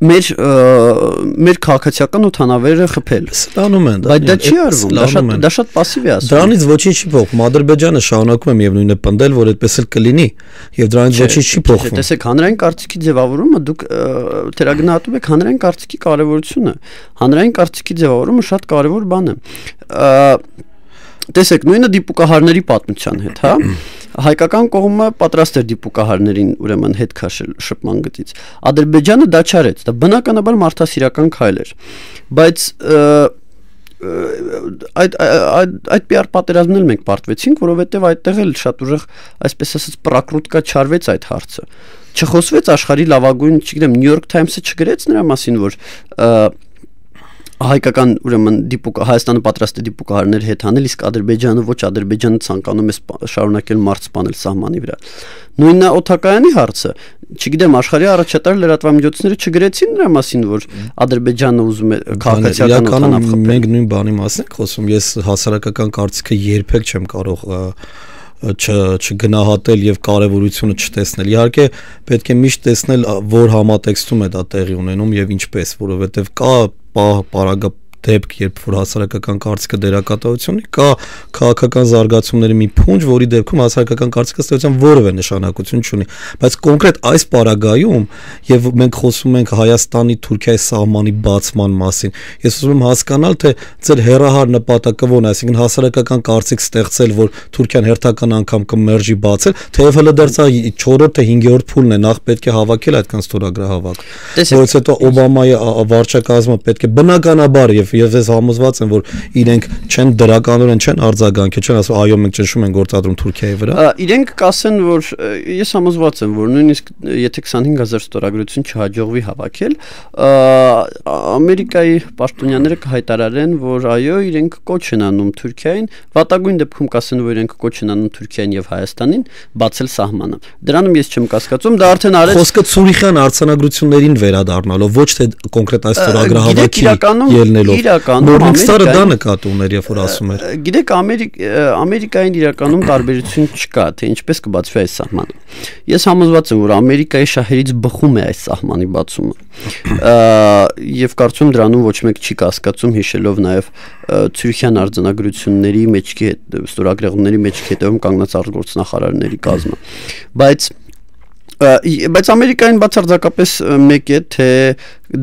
մեր քաղաքացիական օդանավերը խփել։ Ստանում են, բայց դա չի արվում, դա շատ пассив է ասում։ Դրանից ոչինչ չի փոխվում։ Ադրբեջանը շարունակում է միևնույնն է պնդել, որ այդպես էլ կլինի, եւ դրանից ոչինչ չի փոխվում։ Տեսեք, հանրային կարծիքի ձևավորումը դուք թերագնահատում եք հանրային կարծիքի կարեւորությունը։ Հանրային կարծիքի ձևավորումը շատ կարեւոր բան է։ Տեսեք, նույնը դիպուկահարների պատմության հետ, հա։ Հայկական կողմը պատրաստ էր դիպուկահարներին ուրեմն հետ քաշել շփման գծից։ Ադրբեջանը դա չարեց, դա բնականաբար մարդասիրական քայլ էր։ Բայց այդ PR պատերազմն մենք պարտվեցինք, որովհետև այդտեղ էլ շատ ուժեղ, այսպես ասած, պրակրուտկա չարվեց այդ հարցը։ Չխոսվեց աշխարհի լավագույն, չգիտեմ, New York Times-ը չգրեց նրա մասին, որ հայկական ուրեմն Հայաստանը պատրաստ է դիպուկահարներ հետ անել, իսկ Ադրբեջանը ոչ, Ադրբեջանը ցանկանում է շարունակել մարդ սպանել սահմանի վրա։ Նույնն է օդակայանի հարցը, չգիտեմ, աշխարհի առաջատար լրատվամիջոցները չգրեցին նրա մասին, որ Ադրբեջանը ուզում է քաղաքացիական օդանավ խփել։ Մենք նույն բանի մասին ենք խոսում, ես հասարակական կարծիքը երբեք չեմ կարող չգնահատել եւ կարեւորությունը չտեսնել։ Իհարկե պետք է միշտ տեսնել, որ համատեքստում է դա տեղի ունենում եւ ինչպես, որովհետեւ կա պարագա դեպք, երբ որ հասարակական կարծիքը դերակատարություն ունի, կա քաղաքական զարգացումների մի փունջ, որի դեպքում հասարակական կարծիքը ստեղծության որևէ նշանակություն չունի, բայց կոնկրետ այս պարագայում եւ մենք խոսում ենք Հայաստանի Թուրքիայի սահմանի բացման մասին, ես ուզում եմ հասկանալ, թե ձեր հերահար նպատակը ո՞րն է, այսինքն հասարակական կարծիք ստեղծել, որ Թուրքիան հերթական անգամ կմերժի բացել, թեև հələ դեռ 4-րդ թե 5-րդ փուլն է, նախ պետք է հավաքել այդքան ստորագրահավաք, որից հետո Օբամայի վարչակազմը պետք է բնականաբար եւ ես համոզված եմ, որ իրենք չեն դրականորեն չեն արձագանքել, չեն ասում այո մենք ճնշում ենք գործադրում Թուրքիայի վրա։ Իրենք կասեն, որ ես համոզված եմ, որ նույնիսկ եթե 25000 ստորագրություն չհաջողվի հավաքել, Ամերիկայի պաշտոնյաները կհայտարարեն, որ այո իրենք կոչ են անում Թուրքիային, վատագույն դեպքում կասեն, որ իրենք կոչ են անում Թուրքիային եւ Հայաստանին բացել սահմանը։ Դրանում ես չեմ կասկածում, դա արդեն արեց։ Խոսքը Ցուրիխյան արձանագրություններին վերադառնալով, ոչ թե կոնկրետ այս ստորագրահավաքի ելնելով։ Մորնիգստարը դա նկատի ուներ, երբ որ ասում էր։ Գիտեք, Ամերիկային իրականում տարբերություն չկա, թե ինչպես կբացվի այս սահմանը։ Ես համոզված եմ, որ Ամերիկայի շահերից բխում է այս սահմանի բացումը։ Եվ կարծում դրանում ոչ մեկ չի կասկածում, հիշելով նաև Ցուրիխյան արձանագրությունների մեջքի ստորագրողների մեջքի հետևում կանգնած արտգործնախարարների կազմը։ Բայց Ամերիկային բացարձակապես մեկ է, թե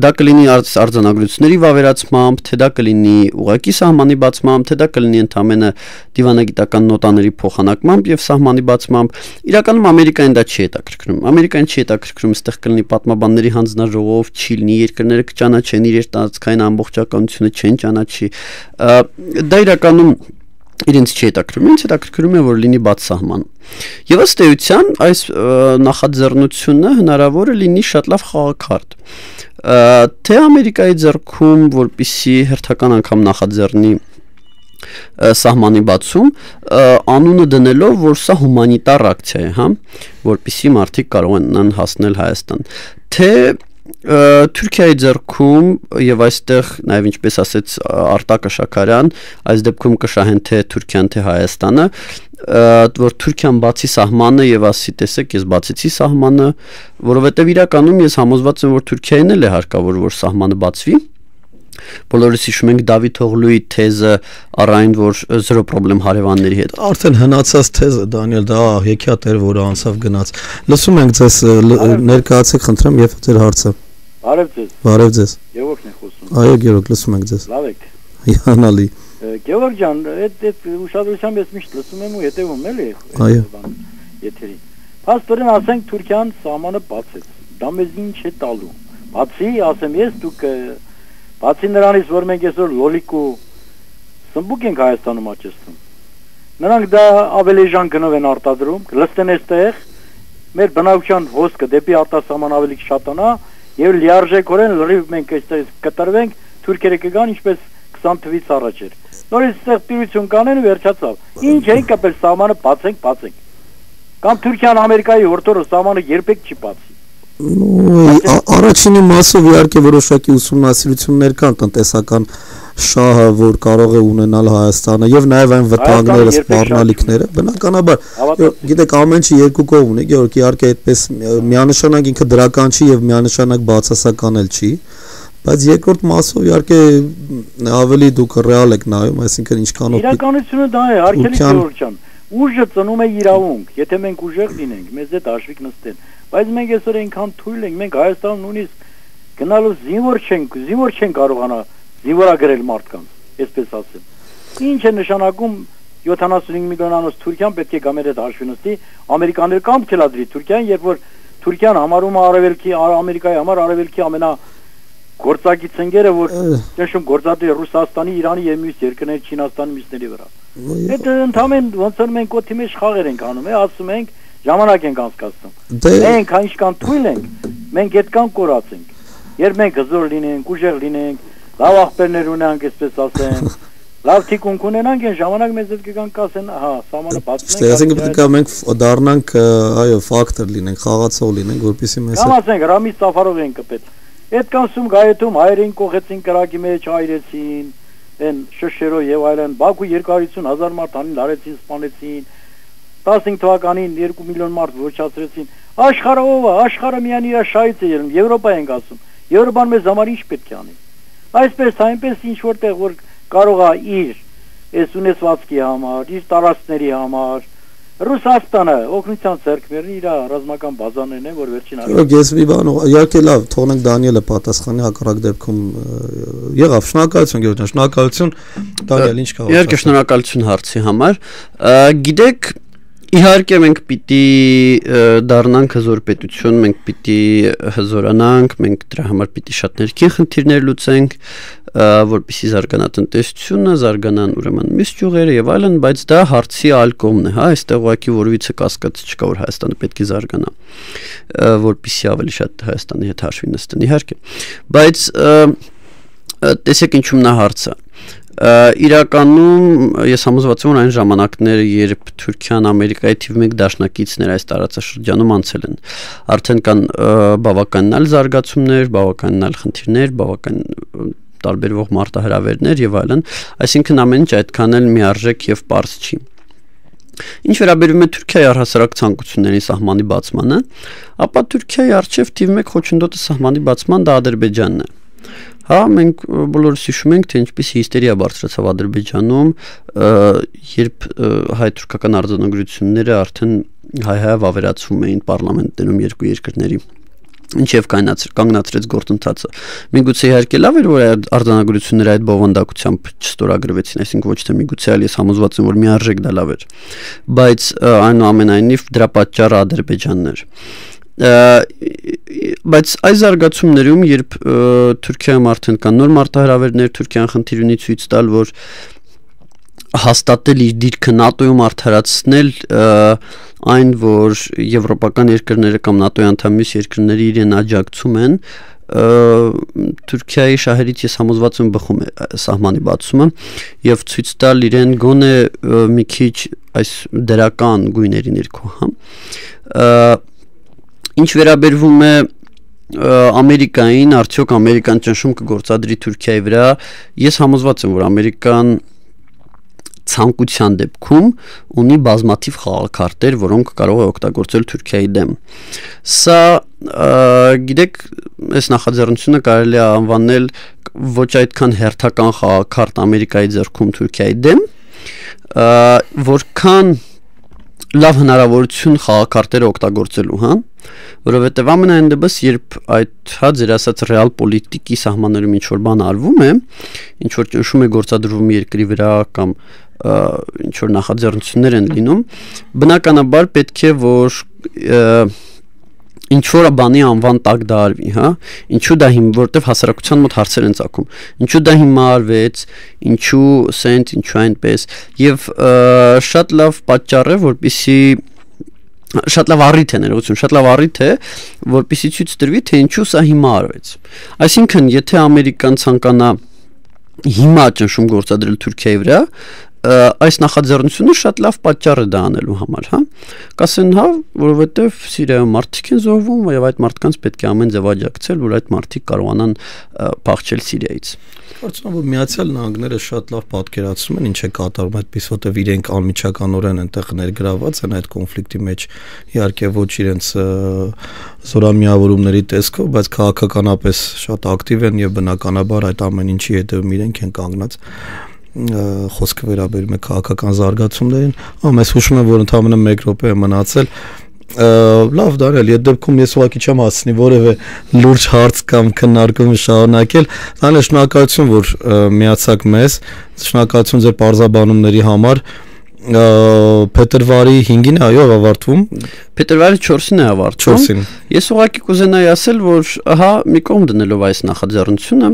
դա կլինի արձանագրությունների վավերացմամբ, թե դա կլինի ուղղակի սահմանի բացմամբ, թե դա կլինի ընդամենը դիվանագիտական նոտաների փոխանակմամբ եւ սահմանի բացմամբ, իրականում Ամերիկային դա չի հետաքրքրում։ Ամերիկային չի հետաքրքրում, այստեղ կլինի պատմաբանների հանձնաժողով, չի լինի, երկրները կճանաչեն իրենց տարածքային ամբողջականությունը, չեն ճանաչի։ Դա իրականում իրենց չի հետաքրքրում, ինձ հետաքրքրում է, որ լինի բաց սահման։ Եվ ըստ էության այս նախաձեռնությունը հնարավոր է լինի շատ լավ խաղաքարտ։ Թե Ամերիկայի ձեռքում, որպիսի հերթական անգամ նախաձեռնի սահմանի բացում, անունը դնելով, որ սա հումանիտար ակցիա է, հա, որպիսի մարդիկ կարողանան հասնել Հայաստան, թե Թուրքիայի ձեռքում եւ այստեղ նաեւ ինչպես ասեց Արտակը Շաքարյան, այս դեպքում կշահեն թե Թուրքիան թե Հայաստանը, որ Թուրքիան բացի սահմանը եւ ասի տեսեք ես բացեցի սահմանը, որովհետեւ իրականում ես համոզված եմ, որ Թուրքիային էլ է հարկավոր որ սահմանը բացվի։ Բոլորս հիշում ենք Դավիթ Օղլուի թեզը առայն որ զրո պրոբլեմ հարևանների հետ։ Արդեն հնացած թեզը Դանիել, դա հեքիաթ էր, որը անցավ գնաց։ Լսում ենք ձեզ, ներկայացեք, խնդրեմ, եւ ձեր հարցը։ Բարև ձեզ։ Բարև ձեզ։ Գևորգն է խոսում։ Այո, Գևորգ, լսում ենք ձեզ։ Լավ եք։ Հիանալի։ Գևորգ ջան, այդ ուշադրությամբ ես միշտ լսում եմ ու հետևում էլի։ Այո։ Եթերին։ Փաստորեն ասենք Թուրքիան սահմանը բացեց։ Դա մեզ ինչ է տալու։ Բացի, ասեմ ես, դուք բացի նրանից, որ մենք այսօր լոլիկ ու սմբուկ ենք Հայաստանում աճեցնում։ Նրանք դա ավելի ժան գնով են արտադրում, լստեն այստեղ, մեր բնակչության հոսքը դեպի արտասահման ավելի կշատանա եւ լիարժեքորեն լրիվ մենք այստեղ կտրվենք, թուրքերը կգան ինչպես 20 թվից առաջ էր։ Նորից այստեղ տիրություն կանեն ու վերջացավ։ Ինչ են կապել սահմանը բացենք։ Կամ Թուրքիան Ամերիկայի հորթորը սահմանը երբեք չի բացի։ Առաջինի մասով իհարկե որոշակի ուսումնասիրություններ կան տնտեսական շահը, որ կարող է ունենալ Հայաստանը եւ նաեւ այն վտանգները, սպառնալիքները, բնականաբար, գիտեք, ամեն ինչի երկու կողմ ունի, Գեորգ, իհարկե այդպես միանշանակ ինքը դրական չի եւ միանշանակ բացասական էլ չի, բայց երկրորդ մասով իհարկե ավելի դուք ռեալ եք նայում, այսինքն ինչքանով իրականությունը դա է, Արգելի Գեորգ ջան, ուժը ծնում է իրավունք, եթե մենք ուժեղ լինենք, մեզ հետ հաշվիկ նստեն, բայց մենք այսօր այնքան թույլ ենք, մենք Հայաստանում նույնիսկ գնալով զինվոր չենք կարողանա զինվորագրել մարդկանց, այսպես ասեմ։ Ինչ է նշանակում 75 միլիոնանոց Թուրքիան պետք է գա մեր հետ հաշվի նստի, ամերիկաները կամ թելադրի Թուրքիան, երբ որ Թուրքիան համարում է արևելքի Ամերիկայի համար արևելքի գործակից ընկերը, որ ճնշում գործադիր Ռուսաստանի, Իրանի եւ մյուս երկրների, Չինաստանի մյուսների վրա։ Այդ ընդհանրեն ոնց որ մենք օդի մեջ խաղեր ենք անում, ասում ենք ժամանակ ենք անցկացնում։ Մենք այնքան թույլ ենք, մենք այդքան կորացենք։ Երբ մենք հզոր լինենք, ուժեղ լինենք, լավ ախպերներ ունենանք, այսպես ասեմ, լավ թիկունք ունենանք, այն ժամանակ մեզ հետ կգան կասեն, ահա, սահմանը բացում ենք։ Այսինքն պետք է մենք դառնանք, այո, ֆակտոր լինենք, խաղացող լինենք, որպեսզի մեզ Կամ ասենք Ռամիզ Սաֆարով են կպետ։ Այդքան սում գայթում հայերին կողեցին կրակի մեջ, այրեցին, այն շշերով եւ այլն, Բաքու 250,000 մարդ անին լարեցին, սպանեցին, 15 թվականին 2 միլիոն մարդ ոչնչացրեցին։ Աշխարհը ով է, աշխարհը միայն իր շահից է ելնում, Եվրոպա ենք ասում։ Եվրոպան մեզ համար ինչ պետք է անի։ Այսպես այնպես ինչ որտեղ որ կարող է իր այս ունեցվածքի համար, իր տարածքների համար Ռուսաստանը օգնության ձեռքբերնի իր ռազմական բազաներն են, որ վերջին Այո, ես մի բան, իհարկե լավ, թողնենք Դանիելը պատասխանի հակառակ դեպքում եղավ, շնորհակալություն Գեորգյան, շնորհակալություն Դանիել, ինչ կարող։ Իհարկե շնորհակալություն հարցի համար։ Գիտեք, իհարկե մենք պիտի դառնանք հզոր պետություն, մենք պիտի հզորանանք, մենք դրա համար պիտի շատ ներքին խնդիրներ լուծենք, որպեսզի զարգանա տնտեսությունը, զարգանան ուրեմն մյուս ճյուղերը եւ այլն, բայց դա հարցի այլ կողմն է, հա, այստեղ ուղղակի որևիցե կասկած չկա, որ Հայաստանը պետք է զարգանա, որպեսզի ավելի շատ Հայաստանի հետ հաշվի նստեն, իհարկե, բայց տեսեք ինչու՞մն է հարցը։ Իրականում ես համոզված եմ, որ այն ժամանակները, երբ Թուրքիան Ամերիկայի թիվ 1 դաշնակիցներ այս տարածաշրջանում անցել են, արդեն կան բավականին այլ զարգացումներ, բավականին այլ խնդիրներ, բավական տարբերվող մարտահրավերներ եւ այլն, այսինքն ամեն ինչ այդքան էլ միարժեք եւ պարզ չի։ Ինչ վերաբերում է Թուրքիայի առհասարակ ցանկությունների սահմանի բացմանը, ապա Թուրքիայի արչեւ թիվ 1 խոչընդոտը սահմանի բացման դա Ադրբեջանն է։ Հա, մենք բոլորս հիշում ենք, թե ինչպես հիստերիա բարձրացավ Ադրբեջանում, երբ հայ-թուրքական արձանագրությունները արդեն հայ-հայ ավերացվում էին պարլամենտներում երկու երկրների, ինչև կանգնացրեց գործընթացը։ Միգուցե իհարկե լավ էր, որ արձանագրությունները այդ բովանդակությամբ չստորագրվեցին, այսինքն ոչ թե միգուցե, այլ ես համոզված եմ, որ միարժեք դա լավ էր, բայց այնուամենայնիվ դրա պատճառը Ադրբեջանն էր։ Բայց այս զարգացումներում, երբ Թուրքիայում արդեն կան նոր մարտահրավերներ, Թուրքիան խնդիր ունի ցույց տալ, որ հաստատել իր դիրքը ՆԱՏՕ-ում արդարացնել այն, որ եվրոպական երկրները կամ ՆԱՏՕ-ի անդամ մյուս երկրները իրեն աջակցում են, Թուրքիայի շահերից ես համոզված եմ բխում է սահմանի բացումը եւ ցույց տալ իրեն գոնե մի քիչ այս դրական գույների ներքո, հա։ Ինչ վերաբերվում է Ամերիկային, արդյոք Ամերիկան ճնշում կգործադրի Թուրքիայի վրա, ես համոզված եմ, որ Ամերիկան ցանկության դեպքում ունի բազմաթիվ խաղաքարտեր, որոնք կարող է օգտագործել Թուրքիայի դեմ։ Սա գիտեք, այս նախաձեռնությունը կարելի է անվանել ոչ այդքան հերթական խաղաքարտ Ամերիկայի ձեռքում Թուրքիայի դեմ, որքան լավ հնարավորություն խաղաքարտերը օգտագործելու, հա, որովհետև ամենայն դեպս, երբ այդ հա ձեր ասած ռեալ պոլիտիկի սահմաններում ինչ որ բան արվում է, ինչ որ ճնշում է գործադրվում երկրի վրա կամ ինչ որ նախաձեռնություններ են լինում, բնականաբար պետք է որ ինչ որ բանի անվան տակ դա արվի, հա, ինչու դա որտեվ հասարակության մոտ հարցեր են ծագում, ինչու դա հիմա արվեց, ինչու սենց, ինչու այնպես, եւ շատ լավ պատճառ է, որպեսզի շատ լավ առիթ է ներողություն, շատ լավ առիթ է, որպեսզի ցույց տրվի, թե ինչու սա հիմա արվեց։ Այսինքն, եթե Ամերիկան ցանկանա հիմա ճնշում գործադրել Թուրքիայի վրա, այս նախաձեռնությունը շատ լավ պատճառ է դա անելու համար, հա։ Կասեն, հա, որովհետև Սիրիայում մարդիկ են զոհվում եւ այդ մարդկանց պետք է ամեն ձև աջակցել, որ այդ մարդիկ կարողանան փախչել Սիրիայից։ Կարծում եմ, որ Միացյալ Նահանգները շատ լավ պատկերացնում են ինչ է կատարվում, այդպես որտեղ իրենք անմիջականորեն այնտեղ ներգրաված են այդ կոնֆլիկտի մեջ, իհարկե ոչ իրենց զորամիավորումների տեսքով, բայց քաղաքականապես շատ ակտիվ են եւ բնականաբար այդ ամեն ինչի հետևում իրենք են կանգնած։ Խոսքը վերաբերում է քաղաքական զարգացումներին, ես հուշում եմ, որ ընդամենը 1 րոպե է մնացել, լավ Դարել, այդ դեպքում ես ուղղակի չեմ հասցնի որևէ լուրջ հարց կամ քննարկում շարունակել, շնորհակալություն, որ միացաք մեզ, շնորհակալություն ձեր պարզաբանումների համար, փետրվարի 5-ին է, այո, ավարտվում։ Փետրվարի 4-ին է ավարտվում։ 4-ին։ Ես ուղղակի կուզենայի ասել, որ ահա մի կողմ դնելով այս նախաձեռնությունը,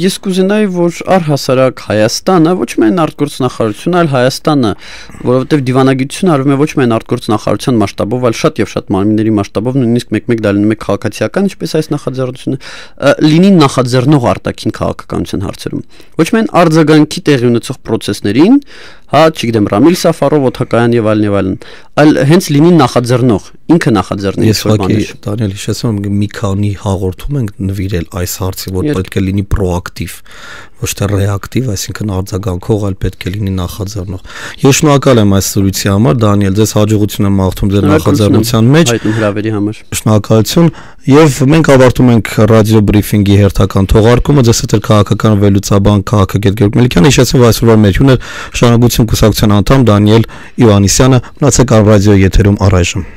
ես կուզենայի, որ առհասարակ Հայաստանը, ոչ միայն արտգործնախարարությունը, այլ Հայաստանը, որովհետև դիվանագիտությունը արվում է ոչ միայն արտգործնախարարության մասշտաբով, այլ շատ եւ շատ մարմինների մասշտաբով, նույնիսկ մեկ-մեկ դա լինում է քաղաքացիական, ինչպես այս նախաձեռնությունը, լինի նախաձեռնող արտաքին քաղաքականության հարցերում։ Ոչ միայն արձագանքի տեղի ունեցող process-ներին, հա, չգիտեմ, Ռամիլ Սաֆարով, Օթակայան եւ այլն, այլ հենց լինի նախաձեռնող, ինքը նախաձեռնի այս բաները։ Դանիել, հիշեցնում եմ, մի քանի հաղորդում ենք նվիրել այս հարցի, որ պետք է լինի պրոակտիվ, ոչ թե ռեակտիվ, այսինքն արձագանքող, այլ պետք է լինի նախաձեռնող։ Ես շնորհակալ եմ այս զրույցի համար, Դանիել, ձեզ հաջողություն եմ մաղթում ձեր նախաձեռնության մեջ։ Հայտնի հրավերի համար։ Շնորհակալություն, եւ մենք ավարտում ենք ռադիո բրիֆինգի հերթական թողարկումը, ձեզ հետ քաղաքական վերլուծաբան քաղաքագետ Գեորգ Մելիքյանը, հիշեցնում այսօրվա մեր հյուրն էր Շարունակություն կուսակցության անդամ Դանիել Իվանիսյանը, մնացեք ռադիոյի եթերում առայժմ։